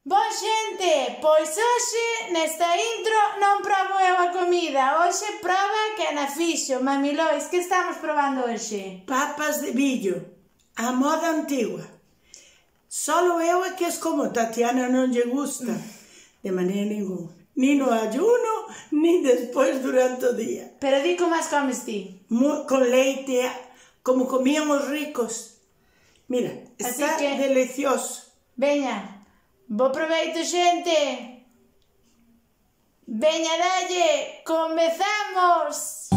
Boa xente, pois hoxe nesta intro non probo eu a comida, hoxe proba que na fixo, Mami Lois, que estamos probando hoxe? Papas de millo, a moda antigua. Solo eu é que es como Tatiana non lle gusta, de maneira ninguna. Ni no ayuno, ni despois durante o día. Pero di como as comes ti? Con leite, como comían os ricos. Mira, está delicioso. Veña, bo proveito xente. Veña, dalle, comezamos.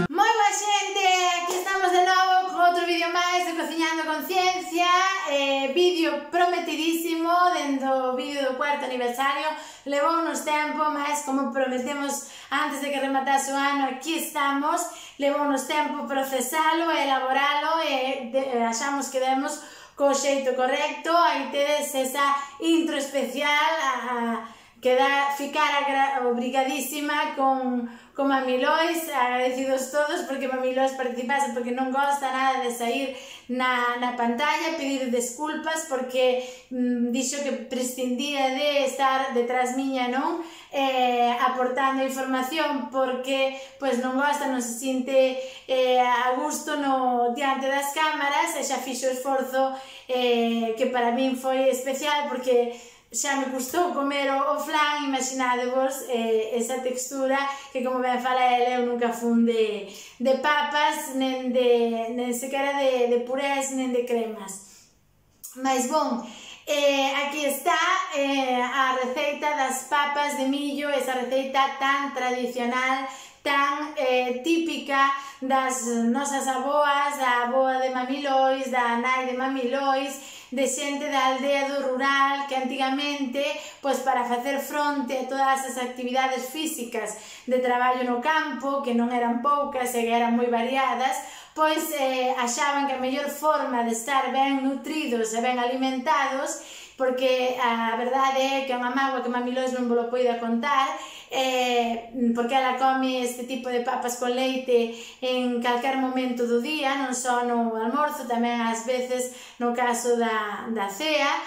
Moi boa xente, aquí estamos de novo con outro vídeo máis de Cociñando con Ciencia, vídeo prometidísimo dentro do vídeo do cuarto aniversario. Levou uns tempo, mas como prometemos antes de que rematase o ano, aquí estamos. Levou uns tempo procesalo e elaboralo e achamos que demos co xeito correcto. Aí tedes esa intro especial que dá ficar obrigadísima con Mami Lois, agradecidos todos porque Mami Lois participase, porque non gosta nada de sair na pantalla, pedir desculpas porque dixo que prescindía de estar detrás miña, non? Aportando información porque pois non gosta, non se sinte a gusto diante das cámaras e xa fixo o esforzo que para min foi especial porque xa me custou comer o flan, imaginadevos esa textura que, como ben fala ela, eu nunca fun de papas, nen sequera de purés, nen de cremas. Mas, bon, aquí está a receita das papas de millo, esa receita tan tradicional, tan típica das nosas aboas, da aboa de Mami Lois, da nai de Mami Lois, de xente da aldea do rural que antigamente, pois para facer fronte a todas as actividades físicas de traballo no campo, que non eran poucas e que eran moi variadas, pois achaban que a mellor forma de estar ben nutridos e ben alimentados, porque a verdade é que é unha mágoa que Mami Lois non vos lo poida contar, porque ela come este tipo de papas con leite en calquer momento do día, non só no almorzo, tamén ás veces no caso da cea,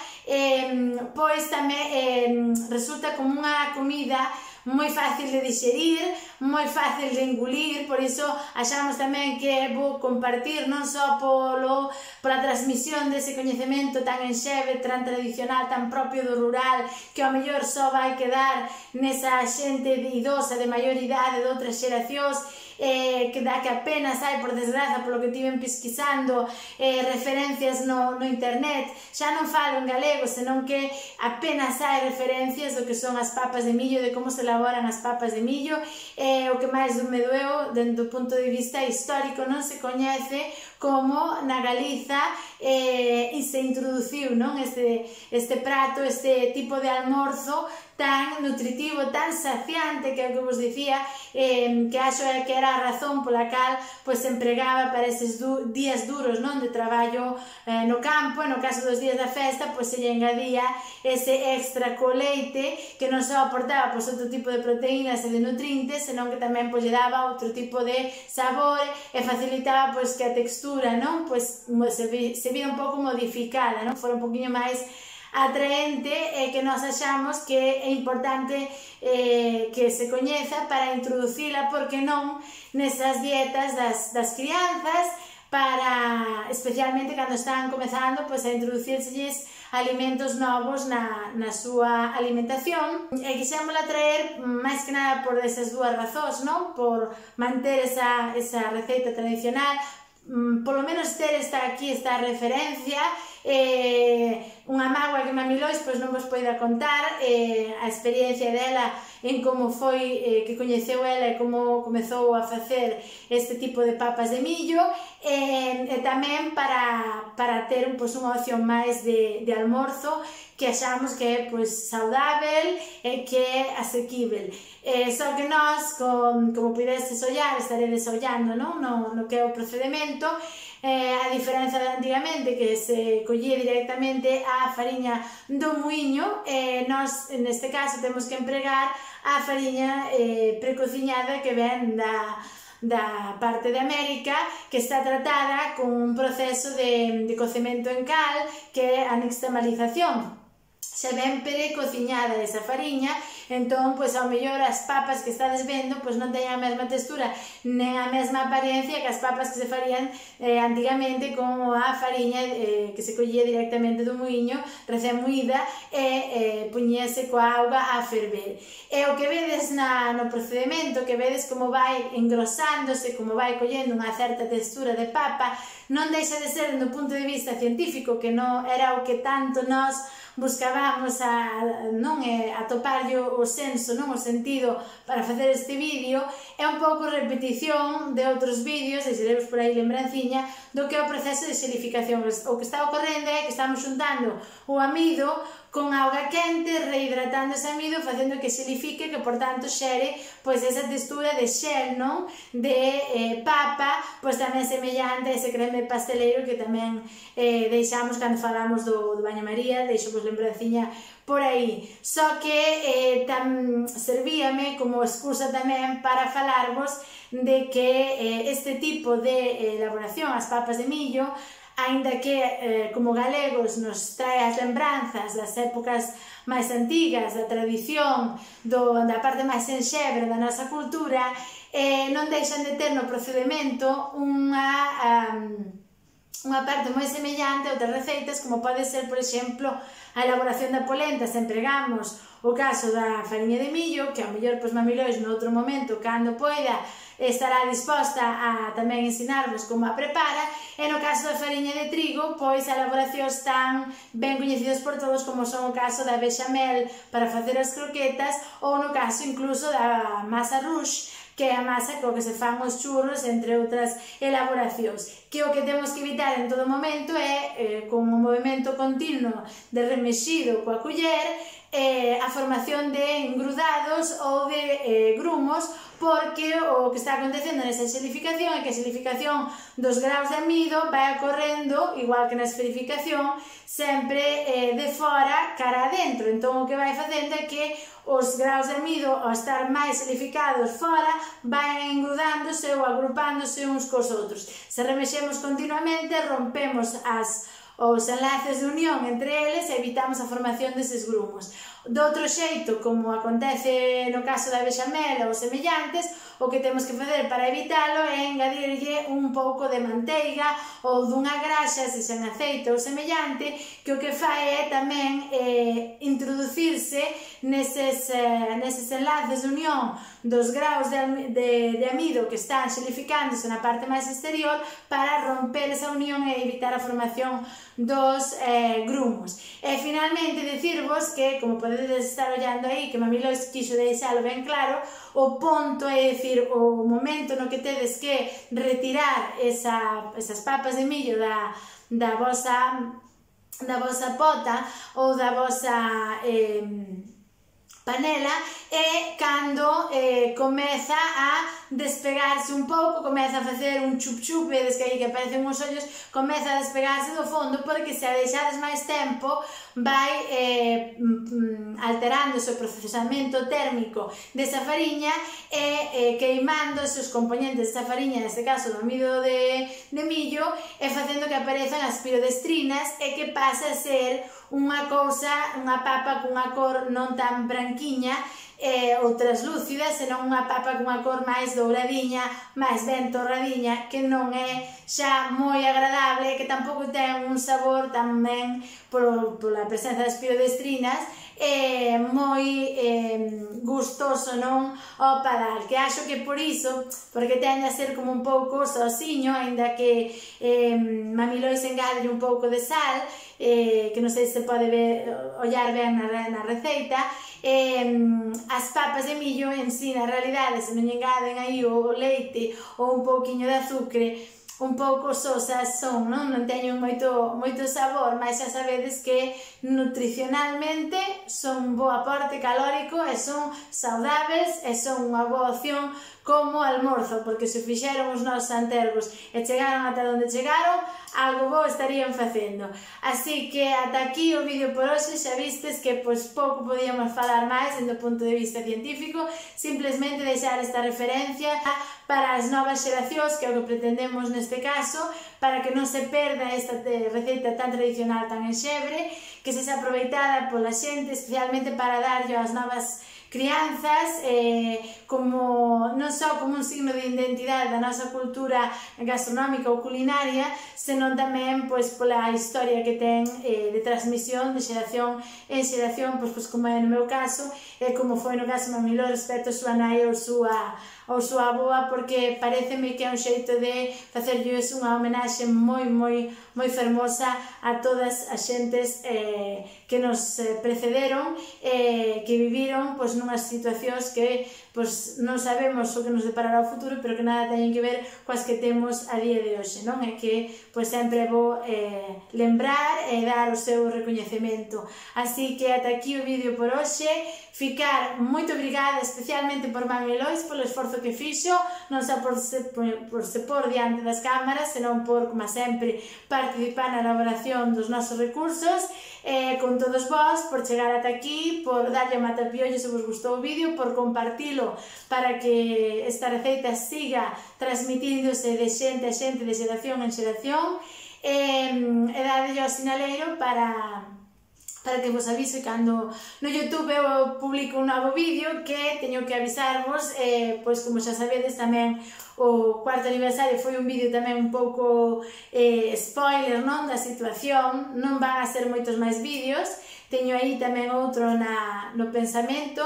pois tamén resulta como unha comida moi fácil de digerir, moi fácil de engulir, por iso achamos tamén que é bo compartir non só pola transmisión dese coñecemento tan enxeve, tan tradicional, tan propio do rural, que ao mellor só vai quedar nesa xente idosa de maior idade de outras xeracións, que apenas hai, por desgraza, polo que tiven pesquisando referencias no internet, xa non falo en galego, senón que apenas hai referencias do que son as papas de millo, de como se elaboran as papas de millo. O que máis me doeu, dentro do punto de vista histórico, non se coñece como na Galiza se introduciu este prato, este tipo de almorzo tan nutritivo, tan saciante, que é o que vos dicía, que acho que era a razón pola cal se empregaba para eses días duros de traballo no campo. No caso dos días da festa se lle engadía ese extra co leite que non só aportaba outro tipo de proteínas e de nutrientes, senón que tamén lle daba outro tipo de sabor e facilitaba que a textura se vira un pouco modificada, fora un poquinho máis atraente, e que nós achamos que é importante que se coñeza para introducila, porque non, nesas dietas das crianzas, para especialmente cando están comezando a introducírselles alimentos novos na súa alimentación. E quixémola traer máis que nada por esas dúas razóns, por manter esa receita tradicional, polo menos ter aquí esta referencia, unha mágoa que Mami Lois non vos poida contar a experiencia dela en como foi que coñeceu ela e como comezou a facer este tipo de papas de millo, e tamén para ter unha opción máis de almorzo que achamos que é saudável e que é asequível. Só que nós, como pudedes ollar, estaredes ollando no que é o procedimento, a diferenza de antigamente, que se collía directamente a fariña do muiño, nós neste caso temos que empregar a fariña precociñada que ven da parte de América, que está tratada con un proceso de cocemento en cal, que é a nixtamalización. Xa ben precociñada esa fariña, entón, pois, ao mellor as papas que estades vendo, pois, non teñen a mesma textura, nen a mesma apariencia que as papas que se farían antigamente con a fariña que se collía directamente do muiño, recén moída, e puñese coa auga a ferver. E o que vedes no procedimento, que vedes como vai engrosándose, como vai collendo unha certa textura de papa, non deixa de ser, do punto de vista científico, que non era o que tanto nós buscábamos atoparlle o senso, non o sentido para facer este vídeo, é un pouco repetición de outros vídeos, deixaremos por aí lembranciña, do que é o proceso de xelificación. O que está ocorrendo é que estamos xuntando o amido con auga quente, rehidratando ese amido, facendo que xelifique, que por tanto xere pois esa textura de xel, non? De papa, pois tamén semellante a ese creme pasteleiro que tamén deixamos cando falamos do baño María, deixo pois lembranciña por aí. Só que servíame como excusa tamén para falarvos de que este tipo de elaboración, as papas de millo, aínda que como galegos nos trae as lembranzas das épocas máis antigas, da tradición, da parte máis enxebre da nosa cultura, non deixan de ter no procedimento unha parte moi semellante a outras receitas, como pode ser, por exemplo, a elaboración da polenta. Se empregamos o caso da fariña de millo, que ao mellor pois Mami Lois noutro momento, cando poida, estará disposta a tamén ensinarvos como a prepara, e no caso da fariña de trigo, pois a elaboracións tan ben coñecidas por todos como son o caso da bechamel para facer as croquetas, ou no caso incluso da masa rouge, que é a masa co que se fan os churros, entre outras elaboracións, que o que temos que evitar en todo momento é, con o movimento continuo de remexido coa culler, a formación de engrudados ou de grumos, porque o que está acontecendo nesa xelificación é que a xelificación dos graus de amido vai ocorrendo, igual que na esferificación, sempre de fora cara adentro. Entón o que vai facendo é que os graus de amido, ao estar máis xelificados fora, vai engrudándose ou agrupándose uns cos outros. Se remexemos continuamente, rompemos os enlaces de unión entre eles e evitamos a formación deses grumos. De outro xeito, como acontece no caso da bechamel ou semellantes, o que temos que facer para evitalo é engadirlle un pouco de manteiga ou dunha graxa, se sen aceite ou semellante, que o que fai é tamén introducirse neses enlaces de unión dos graus de amido que están xelificándose na parte máis exterior, para romper esa unión e evitar a formación dos grumos. E finalmente dicirvos que, como podedes estar ollando aí, que Mami Lois quixo deixalo ben claro, o ponto é dicir, o momento no que tedes que retirar esas papas de millo da vosa pota ou da vosa panela, é cando comeza a despegarse un pouco, comeza a facer un chup-chup, vedes que aí que aparecen uns ollos, comeza a despegarse do fondo, porque se a deixades máis tempo vai alterándose o procesamento térmico desa fariña e queimando os componentes desa fariña, neste caso do amido de millo, e facendo que aparezan as pirodestrinas e que pasa a ser unha papa cunha cor non tan branquiña ou translúcida, senón unha papa cunha cor máis douradiña, máis ben torradiña, que non é xa moi agradable, que tampouco ten un sabor tamén pola presenza das pirodestrinas moi gustoso, non, ao padal, que acho que por iso, porque tende a ser como un pouco sosiño, aínda que Mami Lois engade un pouco de sal, que non sei se pode ollar ben na receita. As papas de millo en si, na realidade, se non engaden aí o leite ou un pouquiño de azucre, un pouco sosas son, non teñen moito sabor, mas xa sabedes que nutricionalmente son un bo aporte calórico e son saudáveis e son unha boa opción como almorzo, porque se fixeron os nosos antergos e chegaron ata onde chegaron, algo bo estarían facendo. Así que ata aquí o vídeo por hoxe. Xa vistes que pois pouco podíamos falar máis dende o punto de vista científico, simplemente deixar esta referencia para as novas xeracións, que é o que pretendemos neste caso, para que non se perda esta receita tan tradicional, tan enxebre, que se aproveitada pola xente, especialmente para darlle ás novas crianzas, como non só como un signo de identidade da nosa cultura gastronómica ou culinaria, senón tamén pois pola historia que ten de transmisión de xeración en xeración, pois como é no meu caso, e como foi no caso do Mamiló respecto a súa nai ou súa avoa, porque pareceme que é un xeito de facerlles unha homenaxe moi fermosa a todas as xentes que nos precederon, que viviron pois nunhas situacións que pois non sabemos o que nos deparará o futuro, pero que nada teñen que ver coas que temos a día de hoxe, non? É que pois sempre é bo lembrar e dar o seu recoñecemento. Así que ata aquí o vídeo por hoxe. Ficar moito obrigada especialmente por Mami Lois polo esforzo que fixo, non só por se por diante das cámaras, senón por, como sempre, participar na elaboración dos nosos recursos, con todos vós, por chegar ata aquí, por darlle a matapiollo se vos gustou o vídeo, por compartilo para que esta receita siga transmitíndose de xente a xente, de xeración en xeración, e dadelle ao sinaleiro para que vos avise cando no YouTube eu publico un novo vídeo, que teño que avisarvos, pois como xa sabedes tamén o cuarto aniversario foi un vídeo tamén un pouco spoiler, non, da situación, non van a ser moitos máis vídeos, teño aí tamén outro no pensamento,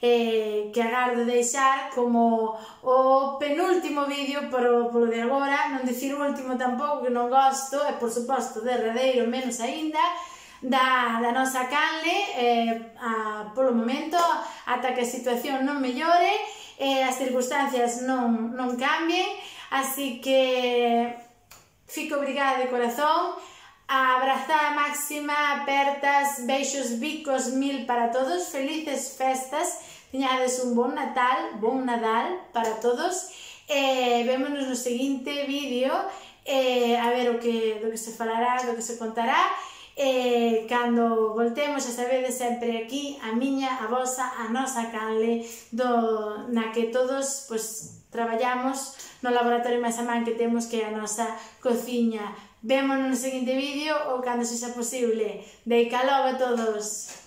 que agardo deixar como o penúltimo vídeo polo de agora, non dicir o último tampouco, que non gosto, e por suposto derradeiro menos aínda, da nosa canle, polo momento, ata que a situación non mellore, as circunstancias non cambien, así que fico obrigada de corazón, a abrazada máxima, apertas, beixos, bicos, mil para todos, felices festas, teñades un bon Nadal para todos, vémonos no seguinte vídeo, a ver do que se falará, do que se contará. Cando voltemos, xa sabedes, sempre aquí a miña, a vosa, a nosa canle, na que todos traballamos no laboratorio máis a man que temos, que é a nosa cociña. Vémonos no seguinte vídeo ou cando sexa posible. Deica logo a todos!